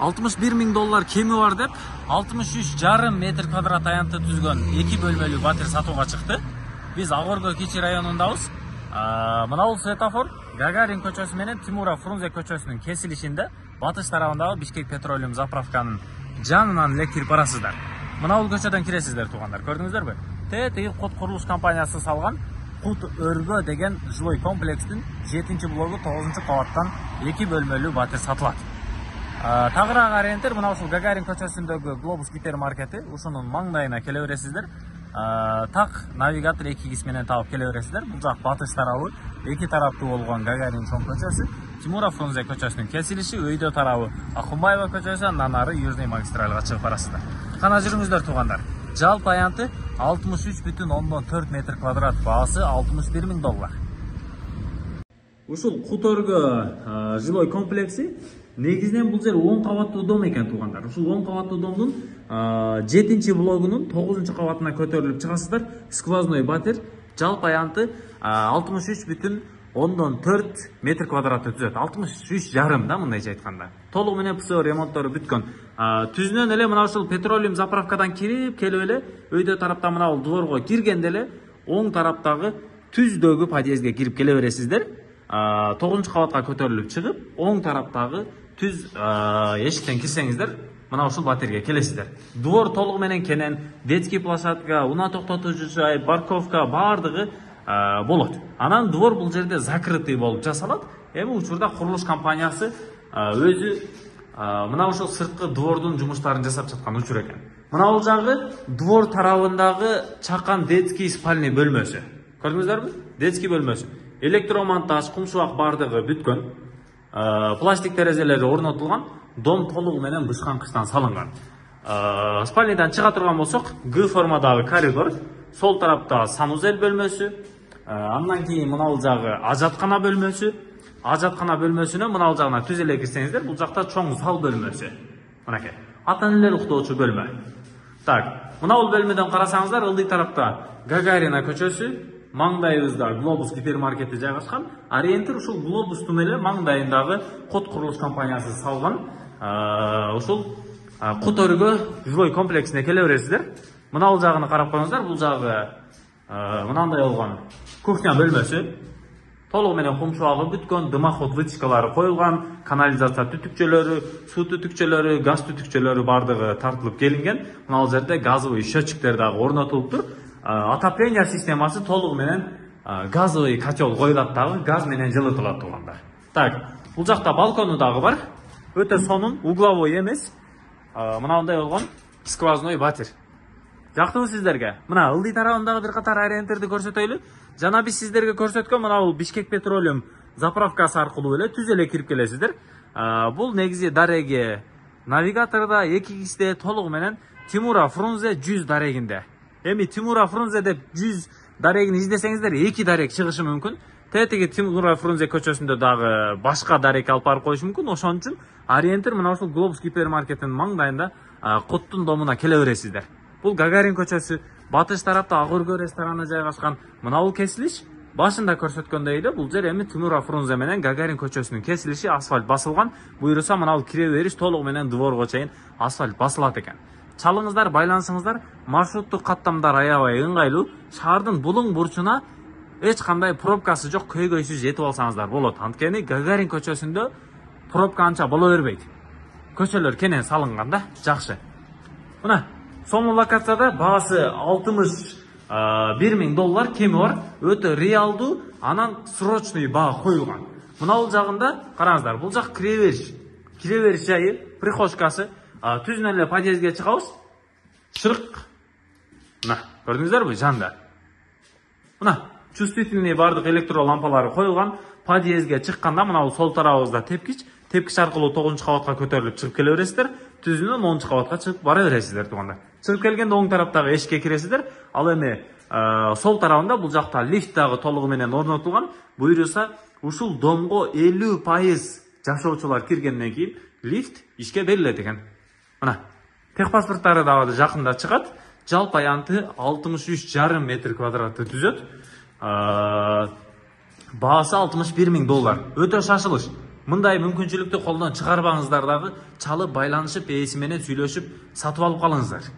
$61 000 кеми бар деп 63,5 метр квадрат аянтты түзгөн 2 бөлмөлүү батир сатууга чыкты. Биз Агорго Кичи районундабыз. Мына светофор Гагарин көчөсү менен Тимура Фрунзе көчөсүнүн кесилишинде батыш тарабындагы Бишкек Петролиум заправканын жанынан эле кирип барасыздар. Мына көчөдөн киресиздер туугандар. Көрдүңүздөрбү? Тетиги Кут курулуш компаниясы салган Кут Өргө деген жилой комплекстин 7-блогу 9-кабаттан 2 бөлмөлүү батир сатылат. Тагыраак ориентир мына ушул Гагарин көчөсүндөгү Глобус гипермаркети, ушунун маңдайына келе бересиздер. Так навигатор 2X менен таап келе бересиздер. Бул жак батыш тарабы, эки тараптуу болгон Гагарин чоң көчөсү, Тимура Фрунзе көчөсүнүн кесилиши, өйдө тарабы Акунбаева көчөсү, андан ары Южный магистральга чыгып барасыздар. Кана жүрүңүздөр туугандар. Жалпы аянты 63,4 метр квадрат, баасы $61 000. Ушул Кут Өргө жилой комплекси негизинен бул жер 10 кабаттуу дом экен туугандар. Ушул 10 кабаттуу домдун 7-блогунун 9-кабатына көтөрүлүп чыгасыздар. Сквозной батир, жалпы аянты 63,4 метр квадратты түзөт. 63,5 да мындайча айтканда. Толугу менен ПСО ремонттору бүткөн. Түзүнөн эле мына ушул петролиум заправкадан кирип келип эле өйдө тараптан мына бул дворго киргенде эле оң тараптагы түздөгү подъездге кирип келе бересиздер. 9-кабатка көтөрүлүп чыгып, оң тараптагы түз эшиктен кирсеңиздер, мына ушул батирге келесиздер. Двор толугу менен кенен, детский площадка, унаа токтотуучу жай, парковка баардыгы болот. Анан двор бул жерде закрытый болуп жасалат. Эми учурда курулуш компаниясы өзү мына ушул сырткы двордун жумуштарын жасап жаткан учур экен. Мына бул жагы двор тарабындагы чакан детский спальный бөлмөсү. Көрдүңүздөрбү? Детский бөлмөсү. Электромонтаж, кумшубак баардыгы бүткөн. Пластик терезелери орнотулган, дом толугу менен бышкан-кыштан салынган. Спальныйдан чыга турган болсок, Г формадагы коридор, сол тарапта санузел бөлмөсү, андан кийин мына бул жагы ажаткана бөлмөсү. Ажаткана бөлмөсүнө мына бул жагына түз эле кирсеңиздер, бул жакта чоң зал бөлмөсү. Мынакей, ата-энелер уктоочу бөлмө. Так, мына бул бөлмөдөн карасаңыздар, ылдый тарапта Гагарина көчөсү, маңдайыбызда Глобус гипермаркети жайгашкан. Ориентир ушул Глобустун эле маңдайындагы Кут курулуш компаниясы салган ушул Кут Өргө жилой комплексине келе бересиздер. Мына бул жагын карап коюңуздар, бул жагы мынандай болгон кухня бөлмөсү. Толугу менен кумшубагы бүткөн, дымоход вытяжкалары коюлган, канализация түтүкчөлөрү, суу түтүкчөлөрү, газ түтүкчөлөрү баардыгы тартылып келинген. Мына бул жерде газовый счетчиктер дагы орнотулуптур. Отопление системасы толугу менен газовый котел коюлат дагы, газ менен жылытылат туугандар. Так, бул жакта балкону дагы бар. Өтө сонун, угловой эмес. Мынандай болгон сквозной батир. Жактыбы сиздерге? Мына ылдый тарабындагы бир катар ориентирди көрсөтөйлү. Жана биз сиздерге көрсөткөн мына бул Бишкек Петролиум заправкасы аркылуу эле түз эле кирип келесиздер. Бул негизи дареги навигаторда 2X'де толугу менен Тимура Фрунзе 100 дарегинде. Эми Тимура Фрунзе деп 100 дарегин издесеңиздер, 2 дарек чыгышы мүмкүн. Тетиги Тимура Фрунзе көчөсүндө дагы башка дарек алып барып коюш мүмкүн. Ошон үчүн ориентир мына ушул Глобус гипермаркетинин маңдайында Куттун домуна келе бересиздер. Бул Гагарин көчөсү, батыш тарапта Агорго рестораны жайгашкан. Мына бул кесилиш башында көрсөткөндөй эле бул жер эми Тимура Фрунзе менен Гагарин көчөсүнүн кесилиши, асфальт басылган. Буйруса мына бул кире бериш толугу менен дворго чейин асфальт басылат экен. Чалыңыздар, байланысыңыздар, маршруттук каттамдар аябай ыңгайлуу. Шаардын булуң бурчуна эч кандай пробкасы жок, көйгөйсүз жетип алсаңыздар болот. Анткени Гагарин көчөсүндө пробка анча боло бербейт. Көчөлөр кенен салынган да, жакшы. Мына сонун локацияда баасы $61 000 кеми бар, өтө реалдуу, анан срочный баа коюлган. Мына бул жагында караңыздар, бул жак кире бериш жайы, прихожкасы. Түзүнөн эле подъездге чыгабыз. Шырык. Мына, көрдүңүздөрбү, жанда. Мына, чувствительный бардык электро лампалары коюлган. Подъездге чыкканда мына бул сол тарабыбызда тепкич аркылуу 9-кабатка көтөрүлүп чыгып келе бересиздер. Түзүнөн 10-кабатка чыгып бара бересиздер туугандар. Чыгып келгенде оң тараптагы эшикке киресиздер. Ал эми сол тарабында бул жакта лифт дагы толугу менен орнотулган. Буйруса ушул домго 50% жашоочулар киргенден кийин лифт ишке берилет экен. Мына, техпаспорттары дагы жакында чыгат. Жалпы аянты 63,5 метр квадратты түзөт. Баасы $61 000. Өтө шашылыш. мындай мүмкүнчүлүктү колдон чыгарбаңыздар дагы, чалып байланышып ээси менен сүйлөшүп сатып алып калыңыздар.